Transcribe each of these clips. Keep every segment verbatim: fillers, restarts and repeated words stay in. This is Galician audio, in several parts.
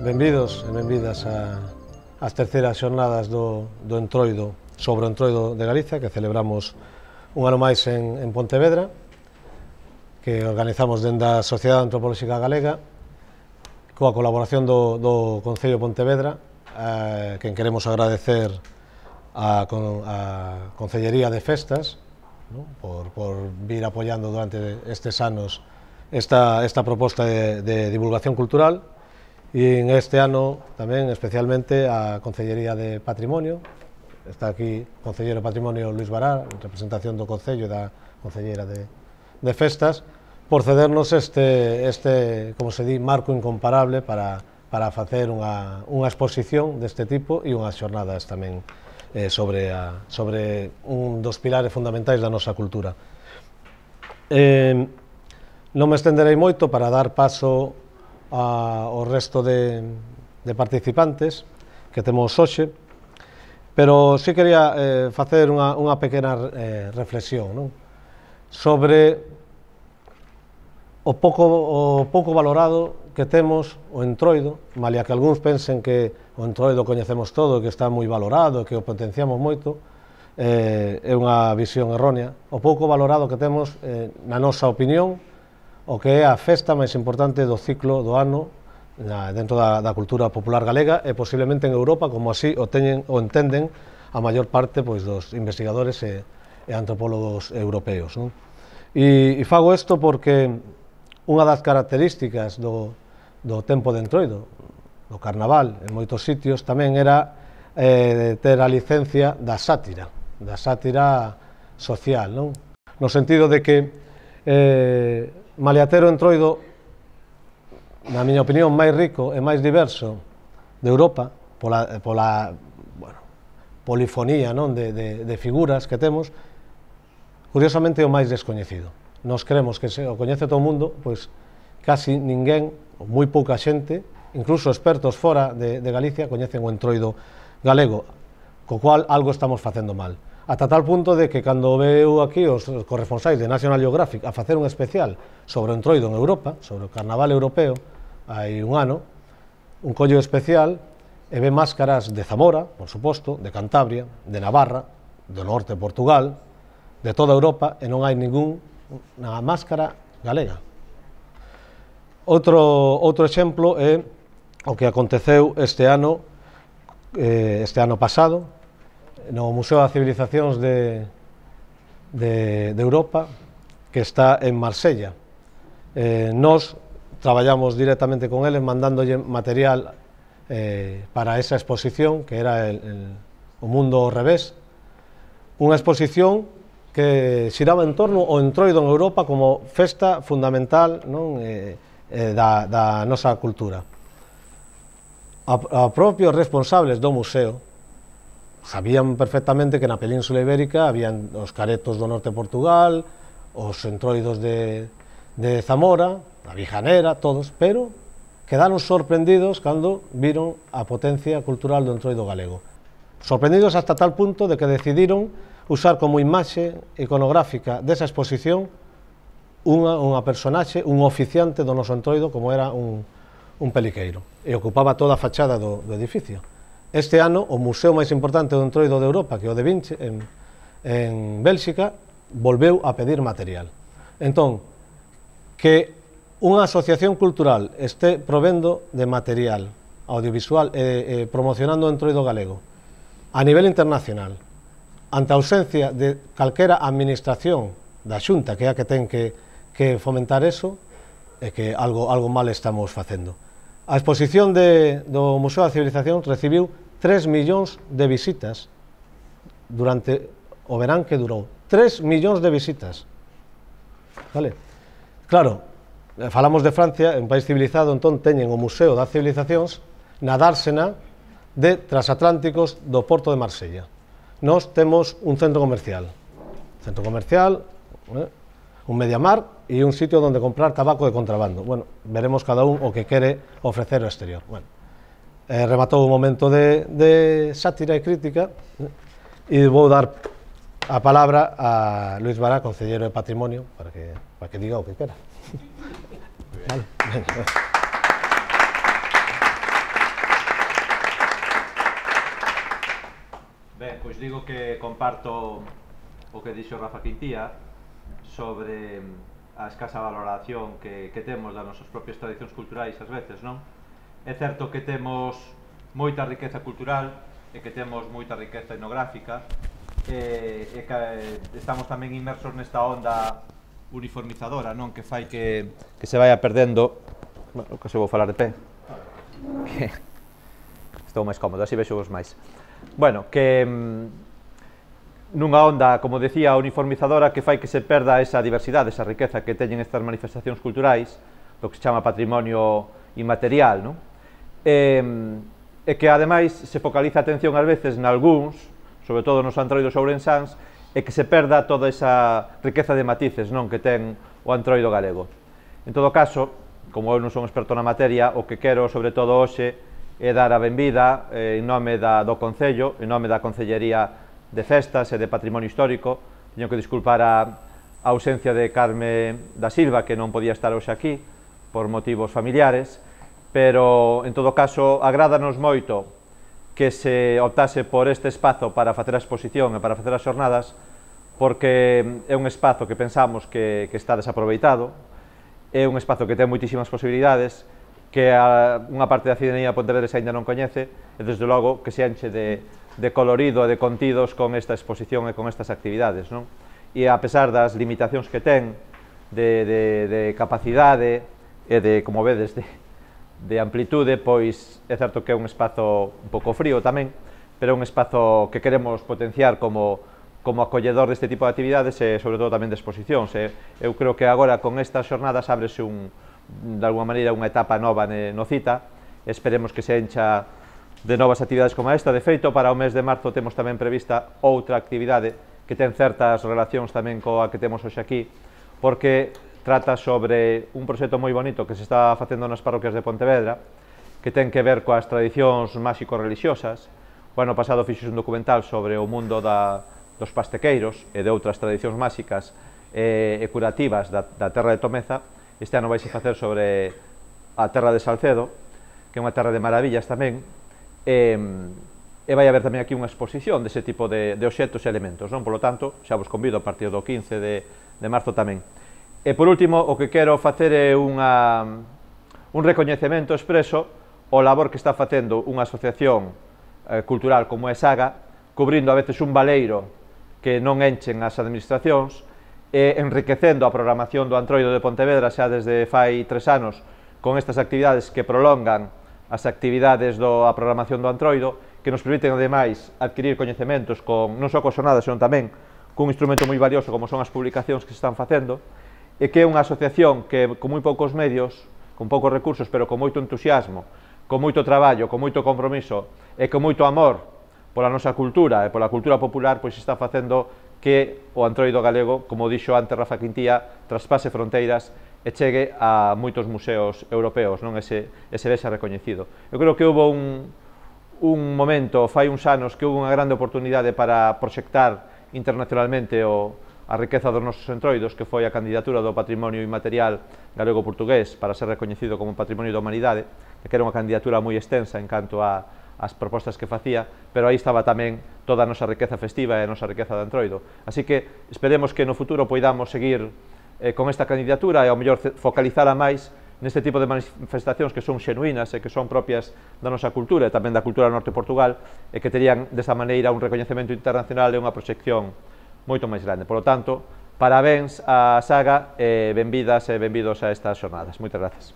Benvidos e benvidas ás terceiras xornadas do, do Entroido sobre o Entroido de Galicia, que celebramos un ano máis en, en Pontevedra, que organizamos dende a Sociedade Antropolóxica Galega, coa colaboración do, do Concello de Pontevedra, eh, que queremos agradecer a, a Concellería de Festas, ¿no? por, por vir apoiando durante estes anos esta, esta proposta de, de divulgación cultural. E en este ano tamén especialmente a Concellería de Patrimonio, está aquí o Concelleiro de Patrimonio Luís Vará, en representación do Concello e da Concelleira de, de Festas, por cedernos este, este, como se di, marco incomparable para, para facer unha, unha exposición deste tipo e unhas xornadas tamén eh, sobre, a, sobre un dos pilares fundamentais da nosa cultura. Eh, non me estenderei moito para dar paso ao resto de, de participantes que temos hoxe, pero sí quería eh, facer unha, unha pequena eh, reflexión, non? Sobre o pouco, o pouco valorado que temos o Entroido, malia que algúns pensen que o Entroido coñecemos todo, que está moi valorado, que o potenciamos moito, eh, é unha visión errónea. O pouco valorado que temos, eh, na nosa opinión, o que é a festa máis importante do ciclo do ano na, dentro da, da cultura popular galega e posiblemente en Europa, como así o, teñen, o entenden a maior parte pois, dos investigadores e, e antropólogos europeos. Non? E, e fago isto porque unha das características do, do tempo de Entroido, do carnaval, en moitos sitios, tamén era eh, ter a licencia da sátira, da sátira social, non? No sentido de que eh, Maliatero Entroido, na miña opinión, máis rico e máis diverso de Europa, pola, pola bueno, polifonía non? De, de, de figuras que temos, curiosamente é o máis descoñecido. Nos creemos que se o coñece todo o mundo, pois casi ninguén, ou moi pouca xente, incluso expertos fora de, de Galicia, coñecen o Entroido galego, co cual algo estamos facendo mal. Ata tal punto de que cando veu aquí os corresponsais de National Geographic a facer un especial sobre o Entroido en Europa, sobre o carnaval europeo, hai un ano, un collo especial, e ve máscaras de Zamora, por suposto, de Cantabria, de Navarra, do norte de Portugal, de toda Europa, e non hai ninguna máscara galega. Outro, outro exemplo é o que aconteceu este ano, eh, este ano pasado, no Museo das Civilizacións de, de, de Europa, que está en Marsella. Eh, nos traballamos directamente con eles, mandándolle material eh, para esa exposición, que era el, el, o mundo ao revés, unha exposición que xiraba en torno ao Entroido en Europa como festa fundamental, non? Eh, eh, da, da nosa cultura. A, a propios responsables do museo sabían perfectamente que na Península Ibérica habían os caretos do norte de Portugal, os entroidos de, de Zamora, a Vijanera, todos, pero quedaron sorprendidos cando viron a potencia cultural do Entroido galego. Sorprendidos hasta tal punto de que decidiron usar como imaxe iconográfica desa exposición unha, unha personaxe, un oficiante do noso Entroido, como era un, un peliqueiro, e ocupaba toda a fachada do, do edificio. Este ano, o museo máis importante do Entroido de Europa, que é o de Vinci, en, en Bélxica, volveu a pedir material. Entón, que unha asociación cultural este provendo de material audiovisual e, e promocionando o Entroido galego a nivel internacional, ante a ausencia de calquera administración da Xunta, que é a que ten que, que fomentar eso, é que algo, algo mal estamos facendo. A exposición de, do Museo da Civilización recibiu tres millóns de visitas durante o verán que durou. tres millóns de visitas. Vale? Claro, falamos de Francia, un país civilizado, entón teñen o Museo das Civilizacións na dársena de transatlánticos do Porto de Marsella. Nós temos un centro comercial, centro comercial, eh, un mediamar e un sitio onde comprar tabaco de contrabando. Bueno, veremos cada un o que quere ofrecer ao exterior. Bueno, eh, rematou un momento de, de sátira e crítica eh, e vou dar a palabra a Luis Bará, concelleiro de Patrimonio, para que, para que diga o que quera. Vale. Ben, pois digo que comparto o que dixo Rafa Quintía sobre a escasa valoración que, que temos das nosas propias tradicións culturais ás veces, non? É certo que temos moita riqueza cultural e que temos moita riqueza etnográfica e, e que estamos tamén inmersos nesta onda uniformizadora, non? Que fai que, que se vaya perdendo, bueno, que se vou falar de pé, que estou máis cómodo, así vexo vos máis. Bueno, que nunha onda, como decía, uniformizadora que fai que se perda esa diversidade, esa riqueza que teñen estas manifestacións culturais, do que se chama patrimonio inmaterial, non? E, e que ademais se focaliza a atención ás veces nalgúns, sobre todo nos antroidos ourensáns, e que se perda toda esa riqueza de matices, non, que ten o antroido galego. En todo caso, como eu non son experto na materia, o que quero sobre todo hoxe é dar a benvida eh, en nome da, do Concello, en nome da Concellería de Festas e de Patrimonio Histórico. Teño que disculpar a, a ausencia de Carme da Silva, que non podía estar hoxe aquí por motivos familiares, pero en todo caso agrádanos moito que se optase por este espazo para facer a exposición e para facer as xornadas, porque é un espazo que pensamos que, que está desaproveitado, é un espazo que ten moitísimas posibilidades, que a, unha parte da cidadanía pontevedresa aínda non coñece, e desde logo que se enche de, de colorido e de contidos con esta exposición e con estas actividades, non? E a pesar das limitacións que ten de, de, de capacidade e de, como vedes, de, de amplitude, pois é certo que é un espazo un pouco frío tamén, pero é un espazo que queremos potenciar como, como acolledor deste tipo de actividades e sobre todo tamén de exposicións. E eu creo que agora con estas xornadas ábrese un, de alguma maneira unha etapa nova no CITA, esperemos que se encha de novas actividades como esta. De feito, para o mes de marzo temos tamén prevista outra actividade que ten certas relacións tamén coa que temos hoxe aquí, porque trata sobre un proxecto moi bonito que se está facendo nas parroquias de Pontevedra, que ten que ver coas tradicións máxico-religiosas. O ano pasado fixo un documental sobre o mundo da, dos pastequeiros e de outras tradicións máxicas e, e curativas da, da terra de Tomeza. Este ano vai se facer sobre a terra de Salcedo, que é unha terra de maravillas tamén, e, e vai haber tamén aquí unha exposición dese tipo de, de obxectos e elementos, non? Por lo tanto, xa vos convido a partir do quince de, de marzo tamén. E por último, o que quero facer é unha, un recoñecemento expreso ao labor que está facendo unha asociación eh, cultural como é Saga, cubrindo a veces un baleiro que non enchen as administracións, e enriquecendo a programación do Antroido de Pontevedra xa desde fai tres anos con estas actividades que prolongan as actividades da programación do Antroido, que nos permiten ademais adquirir coñecementos con, non só coas xornadas, senón tamén cun instrumento moi valioso como son as publicacións que se están facendo, e que é unha asociación que con moi poucos medios, con poucos recursos, pero con moito entusiasmo, con moito traballo, con moito compromiso e con moito amor pola nosa cultura e pola cultura popular, pois está facendo que o antroido galego, como dixo antes Rafa Quintía, traspase fronteiras e chegue a moitos museos europeos, non? Ese, ese vexa recoñecido. Eu creo que houve un, un momento, fai uns anos, que houve unha grande oportunidade para proxectar internacionalmente o, a riqueza dos nosos entroidos, que foi a candidatura do patrimonio inmaterial galego-portugués para ser recoñecido como patrimonio da humanidade, que era unha candidatura moi extensa en canto a as propostas que facía, pero aí estaba tamén toda a nosa riqueza festiva e a nosa riqueza de antroido. Así que esperemos que no futuro poidamos seguir eh, con esta candidatura e ao mellor focalizala máis neste tipo de manifestacións que son xenuínas e que son propias da nosa cultura e tamén da cultura norte de Portugal, e que terían desa maneira un recoñecemento internacional e unha proxección moito máis grande. Por lo tanto, parabéns á saga e benvidas e benvidos a estas xornadas. Moitas gracias.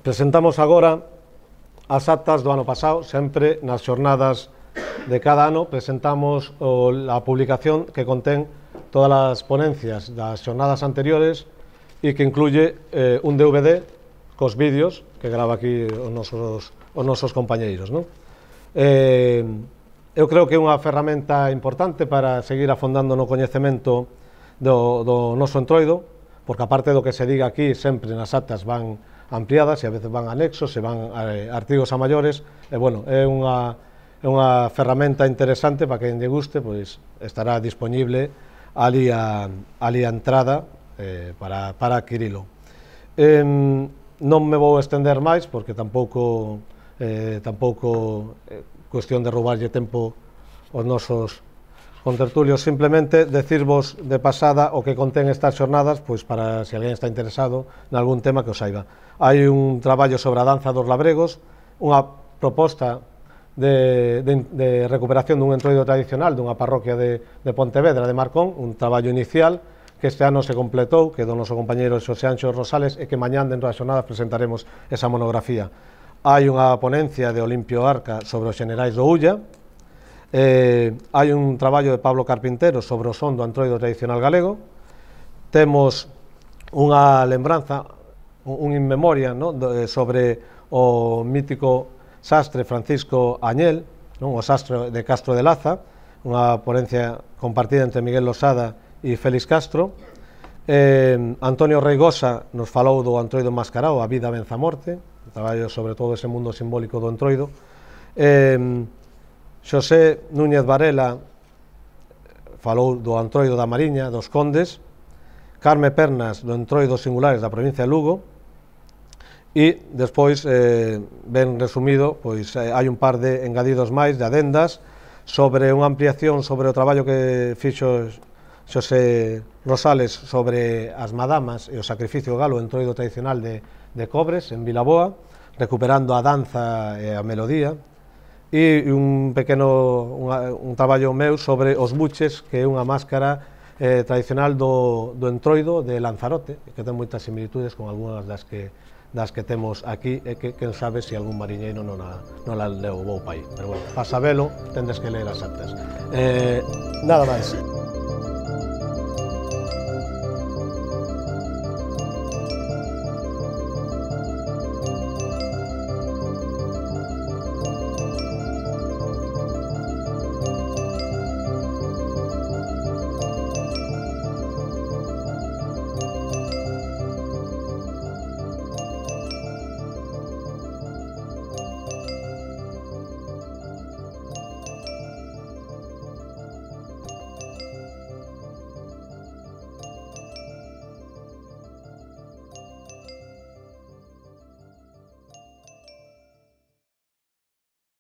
Presentamos agora as actas do ano pasado. Sempre nas xornadas de cada ano presentamos o, a publicación que contén todas as ponencias das xornadas anteriores e que incluye eh, un D V D cos vídeos que grava aquí os nosos, os nosos compañeiros, non? Eh, eu creo que é unha ferramenta importante para seguir afondando no coñecemento do, do noso entroido, porque aparte do que se diga aquí, sempre nas actas van ampliadas e a veces van anexos e van eh, artigos a maiores, e bueno, é unha, é unha ferramenta interesante para quen lle guste, pois estará disponible ali a, ali a entrada eh, para, para adquirilo. Eh, non me vou estender máis, porque tampouco eh, tampouco eh, cuestión de roubarlle tempo aos nosos contertulios, simplemente decirvos de pasada o que contén estas xornadas, pois para se alguén está interesado en algún tema que o saiba. Hai un traballo sobre a danza dos labregos, unha proposta de, de, de recuperación dun entroido tradicional dunha parroquia de, de Pontevedra, de Marcón, un traballo inicial que este ano se completou, que do noso compañeiro Xosé Anxo Rosales, e que mañán dentro das xornadas presentaremos esa monografía. Hai unha ponencia de Olimpio Arca sobre os xenerais do Ulla, eh, hai un traballo de Pablo Carpintero sobre o son do entroido tradicional galego, temos unha lembranza, un in memoria, no? sobre o mítico sastre Francisco Añel, non? O sastre de Castro de Laza, unha ponencia compartida entre Miguel Losada e Félix Castro. eh, Antonio Reigosa nos falou do entroido mascarao, a vida venza a morte, traballo sobre todo ese mundo simbólico do entroido. eh, Xosé Núñez Varela falou do entroido da Mariña, dos Condes. Carme Pernas do entroido singulares da provincia de Lugo. E despois, eh, ben resumido, pois eh, hai un par de engadidos máis, de adendas, sobre unha ampliación sobre o traballo que fixo Xosé Rosales sobre as madamas e o sacrificio galo, o entroido tradicional de, de Cobres, en Vilaboa, recuperando a danza e a melodía, e un pequeno unha, un traballo meu sobre os buches, que é unha máscara eh, tradicional do, do entroido de Lanzarote, que ten moitas similitudes con algunhas das que das que temos aquí, e que, quen sabe, se algún mariñeiro non a, non a levou pa aí. Pero bueno, para sabelo, tendes que ler as actas. Eh, nada máis.